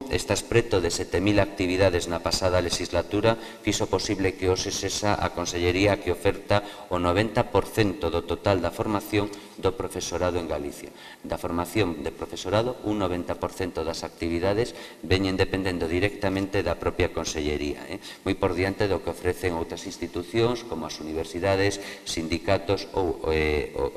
estas preto de 7.000 actividades na pasada legislatura fixo posible que hoxe sexa a Consellería que oferta o 90% do total da formación do profesorado en Galicia. Da formación de profesorado, un 90% das actividades veñen dependendo directamente da propia Consellería, moi por diante do que ofrecen outras institucións como as universidades, sindicatos ou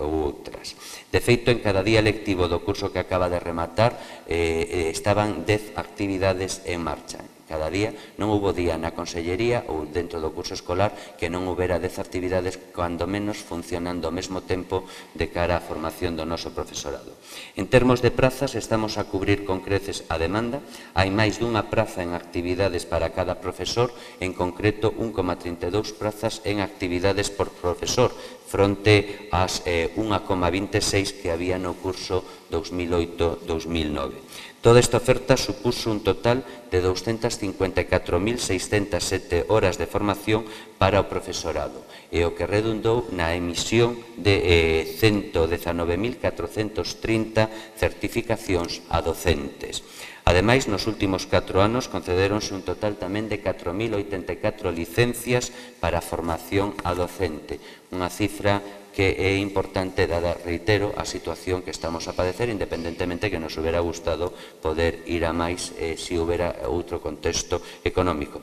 outras. De feito, en cada día lectivo do curso que acaba de rematar estaban 10 actividades en marcha. Cada día non houbo día na Consellería ou dentro do curso escolar que non houbera 10 actividades, cando menos funcionando ao mesmo tempo de cara á formación do noso profesorado. En termos de prazas, estamos a cubrir con creces a demanda. Hai máis dunha praza en actividades para cada profesor, en concreto 1,32 prazas en actividades por profesor, fronte ás 1,26 que había no curso 2008-2009. Toda esta oferta supuso un total de 254.607 horas de formación para o profesorado, e o que redundou na emisión de 119.430 certificacións a docentes. Ademais, nos últimos 4 anos concedéronse un total tamén de 4.084 licencias para a formación a docente, unha cifra que é importante dada, reitero, a situación que estamos a padecer, independentemente que nos hubiera gustado poder ir a máis se houbera outro contexto económico.